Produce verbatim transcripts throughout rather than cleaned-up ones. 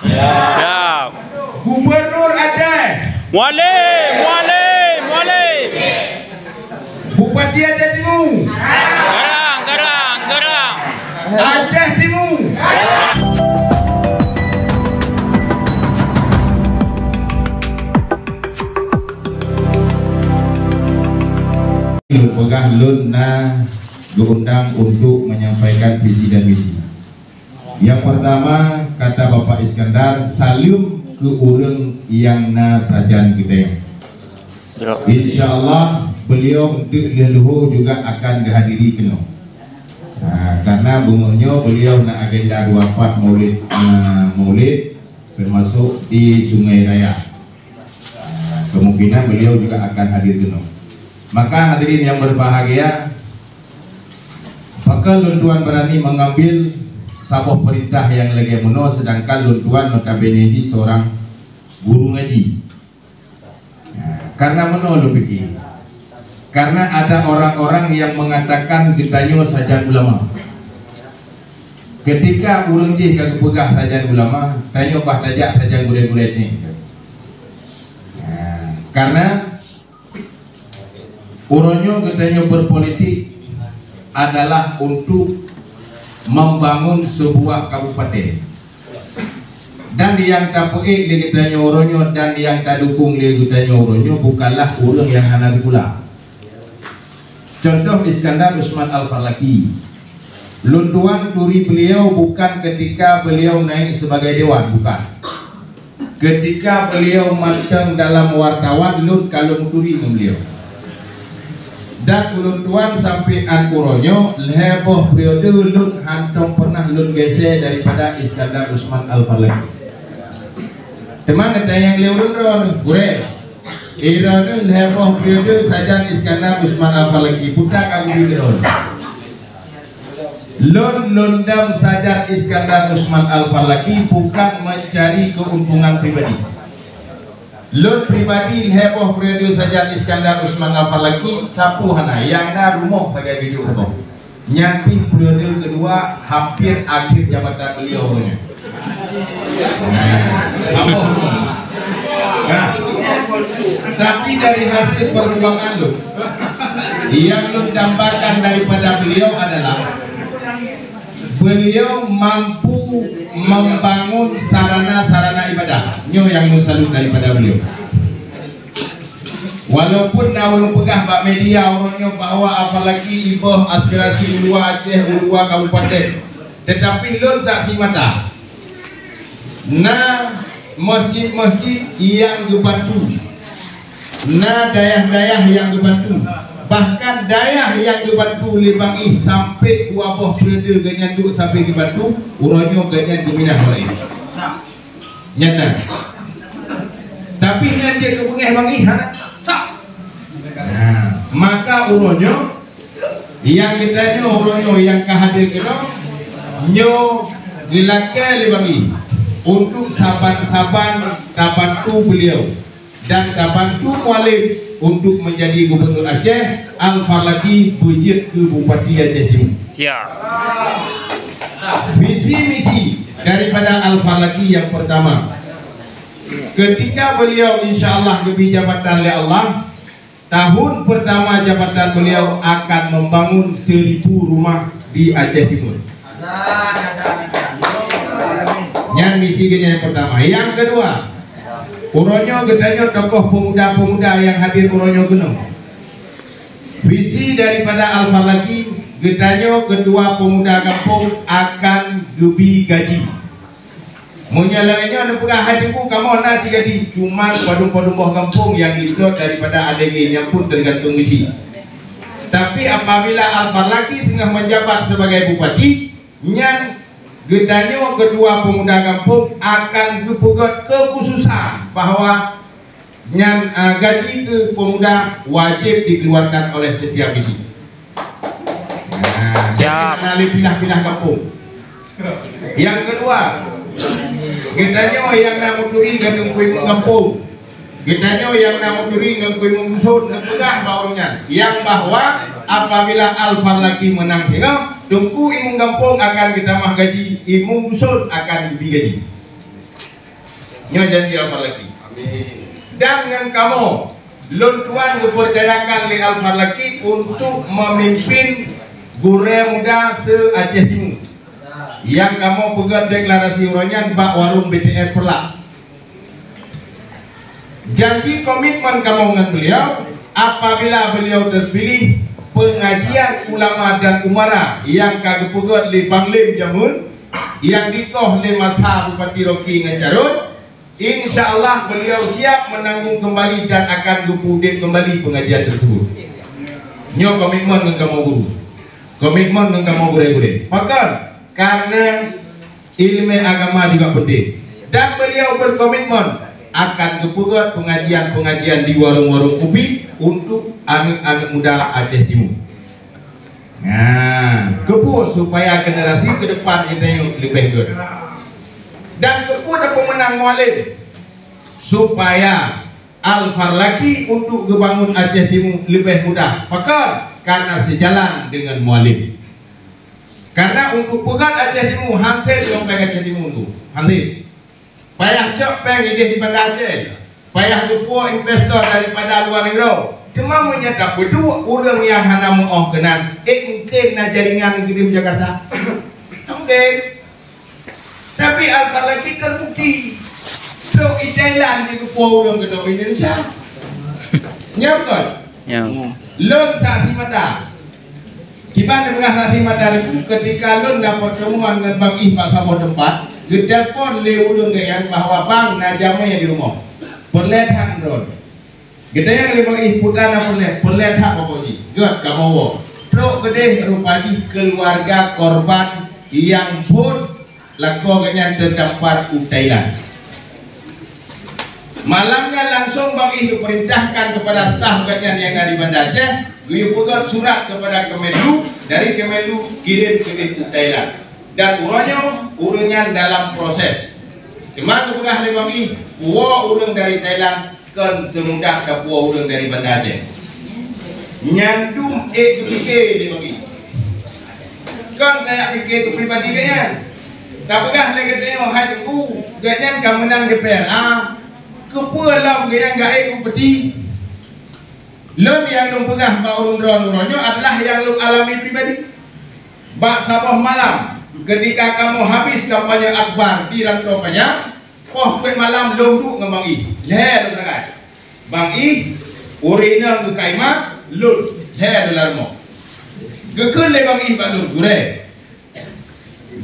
Siap. Gubernur Aceh. Mualem, mualem, mualem. Bupati Aceh Timu. Garang, garang, garang. Aceh Timu. Peugah lôn na geundang untuk menyampaikan visi dan misi. Yang pertama, kata Bapak Iskandar, saleuem keu ureuëng nyang na sajan geutanyoe. Ya. Insya Allah, beliau untuk leuh luhur juga akan geuhadiri keunoe. Nah, karena beungoh nyoe beliau na agenda dua empat maulid, eh, maulid, termasuk di Sungai Raya. Ah, kemungkinan beliau juga akan hadir keunoe. Maka hadirin yang berbahagia, pakon lôn tuan berani mengambil saboh perintah yang lagée meunoe, sedangkan lôn tuan notabene di seorang guru ngaji. Nah, karena meunoe lôn pikir. Karena ada orang-orang yang mengatakan geutanyoe sajan ulama. Ketika ureuëng jih ka geupeugah sajan ulama, tanyoe bah tajak sajan gurée-gurée céng. Nah, karena uroe nyoe geutanyoe berpolitik adalah untuk membangun sebuah kabupaten. Dan yang tapeuék lé geutanyoe uroe nyoe dan yang tadukung lé geutanyoe uroe nyoe bukanlah ureuëng yang hana sikula. Contoh Iskandar Usman Al-Farlaki. Lôn tuan turi beliau bukan ketika beliau naik sebagai dewan, bukan. Ketika beliau mantong dalam wartawan, lôn ka lôn turi ngon beliau. Dan ulôn tuan sampai an uroe nyoe, lhée boh periode lôn hántom pernah lôn geuseue daripada Iskandar Usman Al-Farlaki. Teuma neutanyong lé ulôn droe, gurée, droeneuh lhée boh periode sajan Iskandar Usman Al-Farlaki, peue ka geubi droe. Lôn lôn dam sajan Iskandar Usman Al-Farlaki bukan mencari keuntungan pribadi. Lôn pribadi lhée boh periode sajan Iskandar Usman Al-Farlaki, sapeue hana, nyang na rumoh sagai geujok rumoh. Nyan pih periode keudua hampir akhir jabatan beliau nyoe. Nah, apa? Nah, tapi dari hasil perjuangan lôn, yang lôn dambakan daripada beliau adalah beliau mampu membangun sarana-sarana ibadah. Nyoe yang lôn salut daripada beliau. Walaupun na ureuëng peugah bak media uroe nyoe bahwa apalagi iboh aspirasi uluwa Aceh, uluwa kabupaten, tetapi lôn saksi mata. Na masjid-masjid nyang geubantu, na dayah-dayah nyang geubantu, bahkan dayah nyang geubantu lé Bang Ih sampai dua boh periode gobnyan duek sampai geubantu, uroe nyoe gobnyan geuminah uroe nyoe. Nyan na. Tapi nyan jeuet keu beungéh Bang Ih, ha? Nah, maka uroe nyoe, nyang geutanyoe uroe nyoe nyang ka hadir keunoe, nyoe geulakée lé Bang Ih untuk saban-saban tabantu beliau dan tabantu Mualem untuk menjadi Gubernur Aceh, Al-Farlaki beujeuet keu Bupati Aceh Timu. Siap. Visi misi daripada Al-Farlaki yang pertama, ketika beliau insya Allah geubri jabatan lé Allah, tahun pertama jabatan beliau akan membangun seribu rumah di Aceh Timur. Nyan misi geuhnyan yang pertama. Yang kedua, uroe nyoe geutanyoe tokoh pemuda-pemuda yang hadir uroe nyoe keunoe. Visi daripada Al-Farlaki, geutanyoe ketua pemuda gampông akan geubri gaji. Meunyoe lagée nyoe neupeugah hai Teungku, kamoe na cit gaji, cuman padum-padum boh gampông nyang jitot daripada adeue nyan pun teugantung geuchik. Tapi apabila Al-Farlaki singoh menjabat sebagai bupati, nyan geutanyoe ketua pemuda gampông akan geupeugét kekhususan bahwa nyan, ah, gaji keu pemuda wajéb dikeluarkan oleh setiap bisi. Nah, siap. Jangan ada pindah-pindah gampông. Yang kedua, geutanyoe nyang na meuturi ngon Teungku Imum gampông. Geutanyoe nyang na meuturi ngon Teungku Imum Dusun, neupeugah bak ureuëng nyan, nyang bahwa apabila Al-Farlaki meunang singoh, Teungku Imum gampông akan geutamah gaji, Imum Dusun akan geubri gaji. Nyoe janji Al-Farlaki. Amin. Dan ngon kamoe, lôn tuan geupeucayakan lé Al-Farlaki untuk memimpin gurée muda se-Aceh Timu. Nyang kamoe peugét deklarasi uroe nyan bak warong B T F Peureulak. Janji komitmen kamoe ngon beliau, apabila beliau terpilih, pengajian ulama dan umara nyang ka geupeugét lé Bang Lem jameun, nyang dikoh lé masa Bupati Rocky ngon Carot, insya Allah beliau siap menanggung kembali dan akan geupeuudeb kembali pengajian tersebut. Nyoe komitmen ngon kamoe guru. Komitmen ngon kamoe gurée-gurée. Pakon? Karena ilmu agama juga penting. Dan beliau berkomitmen akan geupeugét pengajian-pengajian di warong-warong ubit untuk aneuk-aneuk muda Aceh Timu. Nah, keupeue supaya generasi ke depan geutanyoe leubeh gét. Dan keupeue tapeumeunang Mualem? Supaya Al-Farlaki untuk geubangun Aceh Timu leubeh mudah. Pakon? Karena sejalan dengan Mualem. Karena untuk peugét Aceh Timu, hana lom péng Aceh Timu tu. Hana. Payah cok péng idéh di Banda Aceh. Payah geupuwoe investor daripada luwa nanggroe. Teuma meunyoe tapeuduek ureuëng nyang hana meuoh keunan, ék mungken na jaringan geudeh u Jakarta? Mungken. Tapi Al-Farlaki terbukti. Trok i Thailand jigeupuwoe ureuëng keunoe Indonesia. Nyo beutôi? Ya. Lôn saksi mata. Kiban neupeugah saksi mata Teungku, ketika lôn na pertemuan ngon Bang Ih bak saboh teumpat, geutelepon lé ureuëng geuh nyan bahwa Bang na jamé di rumoh. Peureulée that droeneuh. Geutanyong lé Bang Ih, peue na peureulée? Peureulée that Bapak Ji. Gét kamoe woe. Trok keudeh rupa jih keuluwarga korban nyang phon lakoe geuhnyan teutampat u Thailand. Malam nyan langsong Bang Ih geupeurintahkan keupada staf geuhnyan nyang na di Banda Aceh, geuyue peugét surat keupada Kemenlu, dari Kemenlu kirém keudeh u Thailand. Dan uroe nyoe ureuëng nyan dalam proses. Teuma geupeugah lé Bang Ih, puwoe ureuëng dari Thailand kon seumudah tapuwoe ureuëng dari Banda Aceh. Nyan dum ék geupike lé Bang Ih. Kon kajak pike keu pribadi geuhnyan. Tapeugah lé geutanyoe hai Teungku, geuhnyan ka meunang di P R A, keupeue lom geuhnyan geuék keu bupati? Lôn nyang lôn peugah bak ureuëng droeneuh uroe nyoe adalah nyang lôn alami pribadi. Bak saboh malam, ketika kamoe habis kampanye akbar di Rantau Panyang, poh peuet malam lôn duek ngon Bang Ih. Lhée lôn sagai. Bang Ih, ureuëng inong geukaima, lôn, lhée lôn lam rumoh. Geukheun lé Bang Ih bak lôn, "Gurée,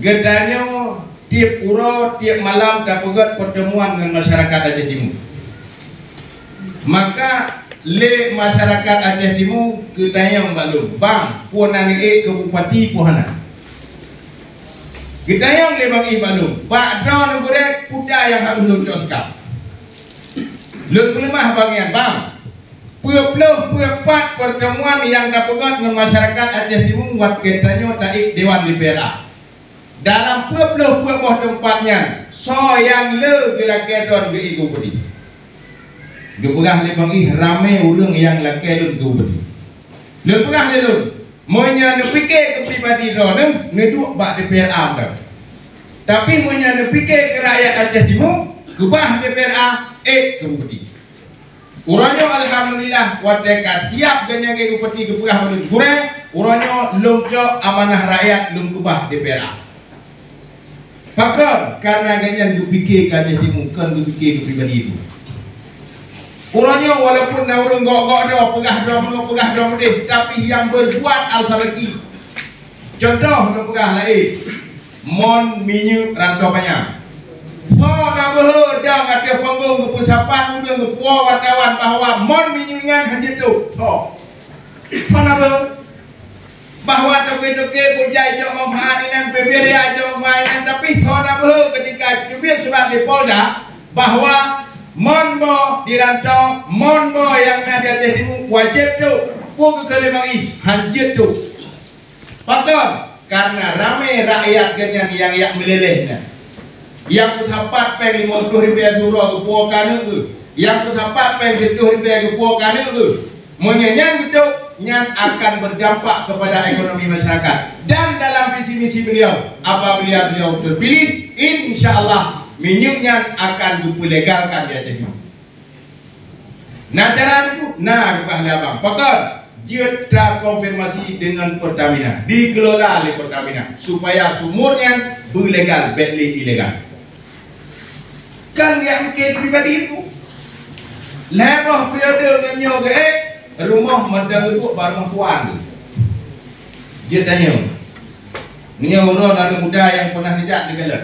geutanyoe tieb uroe, tieb malam tapeugét pertemuan ngon masyarakat Aceh Timu. Maka lé masyarakat Aceh Timu geutanyong bak lôn, 'Bang, peue na neuék keu bupati peue hana?' Geutanyong lé Bang Ih bak lôn, 'Bak droeneuh gurée peue nyang harôh lôn cok sikap?' Lôn peuleumah bak nyan, 'Bang, peuet ploh peuet pat pertemuan nyang tapeugét ngon masyarakat Aceh Timu watée tanyoe taék dewan di P R A. Dalam peuet ploh peuet boh teumpat nyan, soe nyang le geulakée droeneuh geuék keu bupati?' Geupeugah lé Bang Ih, 'Ramé ureuëng nyang lakée lôn keu bupati.' Lôn peugah lé lôn, 'Meunyoe neupike keu pribadi droeneuh, neuduek bak D P R A meunan. Tapi meunyoe neupike keu rakyat Aceh Timu, keubah D P R A, ék keu bupati.' Uroe nyoe alhamdulillah, watée ka siab geuhnyan geupeugah bak lôn, 'Gurée, uroe nyoe lôn cok amanah rakyat lôn keubah D P R A.' Pakon? Karena geuhnyan geupike keu Aceh Timu, kon geupike keu pribadi geuh. Uroe nyoe walaupun na ureuëng gok-gok droe, peugah droe meunoe, peugah droe meudeh, tapi nyang berbuat Al-Farlaki. Contoh neupeugah laén, Mon Minyeuk Rantau Panyang. Soe na beuhe dang ateueh panggong geupeusapat ureuëng geupuwoe wartawan bahwa Mon Minyeuk nyan hanjeuet tôb? Soe? Soe na beuhe? Bahwa toke-toke bujai jok manfaat inan, bibir ya jok manfaat inan, tapi soe na beuhe ketika teubiet surat di Polda bahwa mon boh di Rantau, mon boh nyang na di Aceh Timu wajéb tôb? Peue geukheun lé Bang Ih? Hanjeuet tôb. Pakon? Karena ramé rakyat geuhnyan nyang jak meuleleh nyan. Nyang peusapat péng limong ploh ribèe siuroe geupuwoe keu aneuk geuh. Nyang peusapat péng siplôh ribèe geupuwoe keu aneuk geuh. Meunyoe nyan geutôb, nyan akan berdampak kepada ekonomi masyarakat. Dan dalam visi misi beliau, apabila beliau terpilih, insya Allah Minyeuk nyan akan geupeulegalkan di Aceh nyoe. Na cara teungku? Na, geupeugah lé abang. Pakon? Jeuet takonfirmasi deungon Pertamina, dikelola lé Pertamina, supaya sumur nyan beulegal, bék lé ilegal. Kan jak mikir pribadi teungku. Lhèe boh periode ngon nyoe geuék, rumoh mantong geuduek bak rumoh tuan. Jeuet tanyoe. Meunyoe uroe aneuk muda nyang peunah neujak neukalon.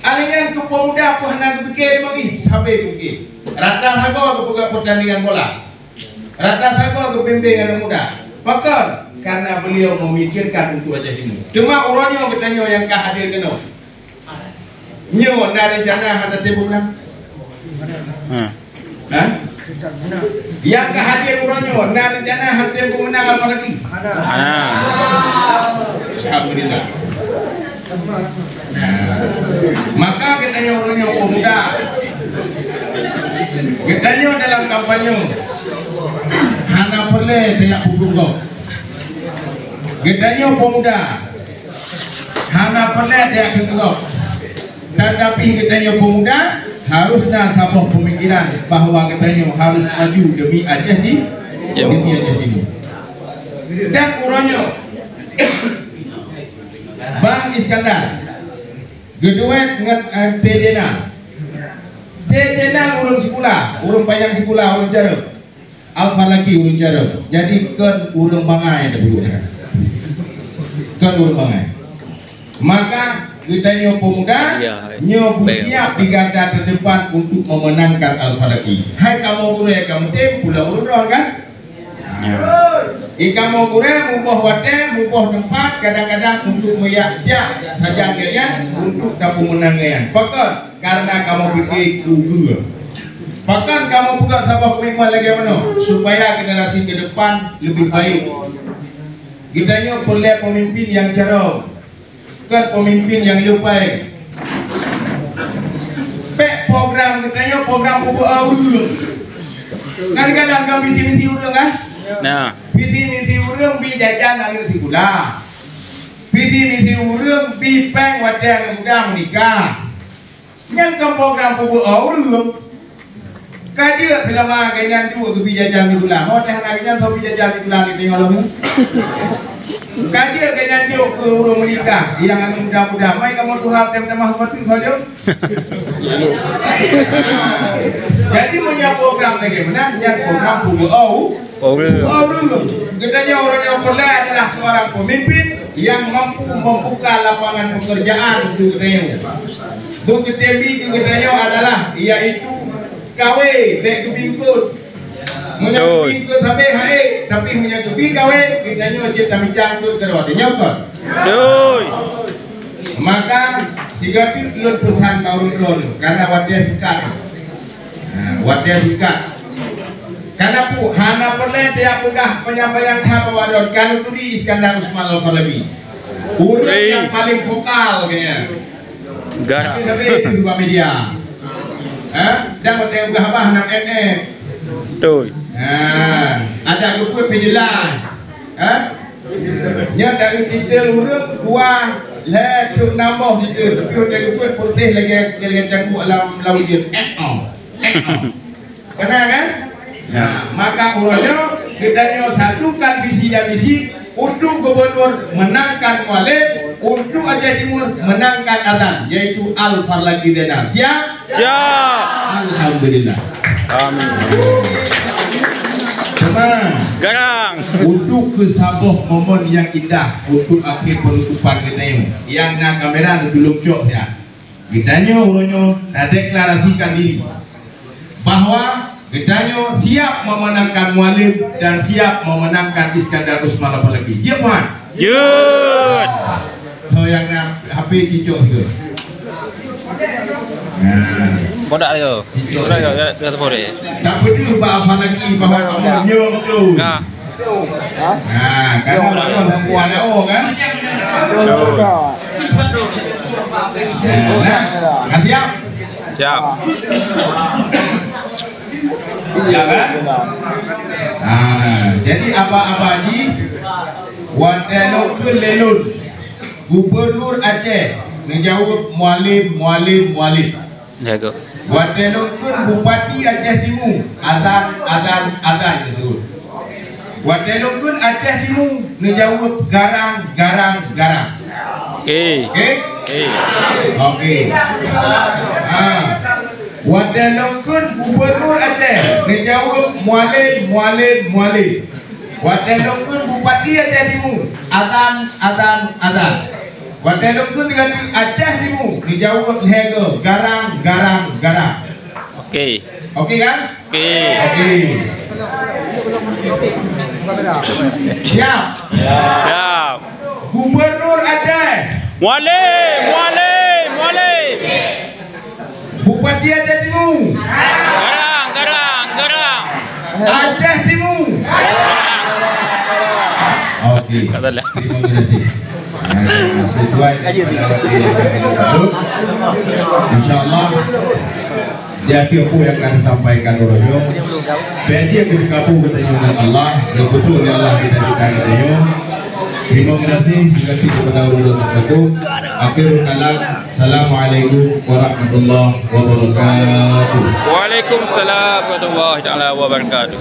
Aneuk nyan keu pemuda pih hana geupike lé magi, sabe geupike. Rata sagoe geupeugah peurtandingan bola. Rata sagoe geubimbéng aneuk muda. Pakon? Karena beliau memikirkan untuk Aceh Timur. Teuma uroe nyoe geutanyoe nyang ka hadir keunoe. Nyoe na rencana hana tem pemenang? Hmm. Ha? Nyang ka hadir uroe nyoe, na rencana hana tem pemenang apa lagi? Hana. Alhamdulillah. Maka geutanyoe uroe nyoe pemuda, geutanyoe dalam kampanye hana peureulèe tajak peukeureubeuen gob. Geutanyoe pemuda hana peureulèe tajak peukeureubeuen gob. Tetapi geutanyoe pemuda harus na saboh pemikiran bahwa geutanyoe harus maju demi Aceh di, demi Aceh Timur. Dan uroe nyoe, Bang Iskandar geuduet ngon, eh, T J Nal. T J Nal ureueng sikula, ureueng panyang sikula, ureueng carông. Alfa lagi ureueng carông. Jadi kon ureueng bangai dah dulu. Kon ureueng bangai. Maka geutanyoe pemuda, nyoe beusiap di garda terdepan untuk memenangkan Alfa lagi. Hai kamoe gurèe, kamoe tem pulang ureueng droe kan? Di kamoe gurèe muboh watèe, muboh teumpat, kadang-kadang untuk meujak jak sajan geuh nyan untuk tapeumeunang geuh nyan. Pakon? Karena kamoe pike keu geuh. Pakon kamoe peugah saboh komitmen lagèe meunoe, supaya generasi ke depan lebih baik. Geutanyoe peureulèe pemimpin nyang carông, kon pemimpin nyang lupai. Pèk program geutanyoe program peubuet ureueng. Kan kadang-kadang visi misi ureueng kan? Nah. Visi misi ureueng bi jajan aneuk sikula. Visi misi ureueng bi pèng watèe aneuk muda meunikah. Nyan kon program peubuet ureueng. Ka jeuet seulama geuh nyan jeuet geubi jajan di bulan. Ho teuh hana geuh nyan, soe bi jajan di bulan di teungoh lom nyoe? Ka jeuet geuh nyan jok keu ureueng meunikah nyang aneuk muda-muda. Mai kamoe tuha tem tamah seupatu saja. Jadi meunyoe program lagèe meunan, nyan program peubuet ureueng. Ureueng. Ureueng. Geutanyoe ureueng nyang peureulèe adalah seorang pemimpin yang mampu membuka lapangan pekerjaan untuk geutanyoe. Beukeuteumbi keu geutanyoe adalah, yaitu kawé, bèk geubi eungkôt. Meunyoe geubi eungkôt sabé hai, tapi meunyoe geubi kawé, geutanyoe cit tamicang eungkôt keudroe. Tanyoe kon? Maka sigoe pih lôn peusan bak ureueng droeneuh, karena watèe singkat. Ha, watèe singkat. Karena pu-, hana peureulèe tajak peugah panyang-panyang that bak droeneuh, ka neuturi Iskandar Usman Al-Farabi. Ureueng nyang paling vokal kayèe. Tapi sabe itu bak media. Ha? Dan watèe peugah haba hana M M. Betul. Ha, adak geupeuet pih jeulaih. Ha? Nyan dari titel ureueng dua lhèe trok nam boh titel, tapi watèe geupeuet putih lagèe, lagèe cangguek lam, lam ujeuen. Eh, oh. Eh, oh. Kena kan? Nah, maka uroe nyoe geutanyoe satukan visi dan misi untuk gubernur menangkan Mualem, untuk Aceh Timur menangkan Azan, yaitu Al Farlaki Zainal. Siap? Siap. Alhamdulillah. Amin. Teuma, garang. Untuk keu saboh momen nyang indah untuk akhé peunutupan geutanyoe, nyang na kamera neutulông cok siat. Geutanyoe uroe nyoe tadeklarasikan diri bahwa geutanyoe siap memenangkan Mualem dan siap memenangkan Iskandar Usman Al Farlaki. Jeuet, Puan? Jeuet. Soe nyang na H P cicok sigoe. Nah. Bodak yo. Cicok. Bodak yo, ya, ya, sepuluh deh. Tak peduli bah apa lagi, bah apa nyoe tu. Nah. Ha? Nah, karena baru dah buat dah, oh, kan? Betul. Nah, nah. Dah siap? Siap. Ya kan? Ah, jadi apa-apa ji, watèe lôn keu lé lôn, Gubernur Aceh, Neujaweueb, "Mualem, mualem, mualem." Jago. Watée lôn kheun Bupati Aceh Timu, azan, azan, azan neuseuôt. Watée lôn kheun Aceh Timu, neujaweueb, "Garang, garang, garang." Oke. Oke? Oke. Oke. Ha. Watée lôn kheun Gubernur Aceh, neujaweueb, "Mualem, mualem, mualem." Watée lôn kheun Bupati Aceh Timu, azan, azan, azan. Watée lôn kheun Aceh Timu, neujaweueb lhée goe, "Garang, garang, garang." Oke. Oke kan? Oke. Oke. Siap? Siap. Gubernur Aceh. Mualem, mualem, mualem. Bupati Aceh Timu. Garang, garang, garang. Aceh Timu. Oke. Tak salah. Terima kasih. Ah, sesuai daripada waktu yang kami buat. InsyaAllah, di akhir apa yang akan disampaikan uroe nyoe, bèk jeuet keu dikabul geutanyoe ngon Allah, geupeutreuk lé Allah cita-cita geutanyoe. Terima kasih, terima kasih kepada ulama tertentu. Akhirul kalam, Assalamualaikum warahmatullahi wabarakatuh. Waalaikumsalam warahmatullahi taala wabarakatuh.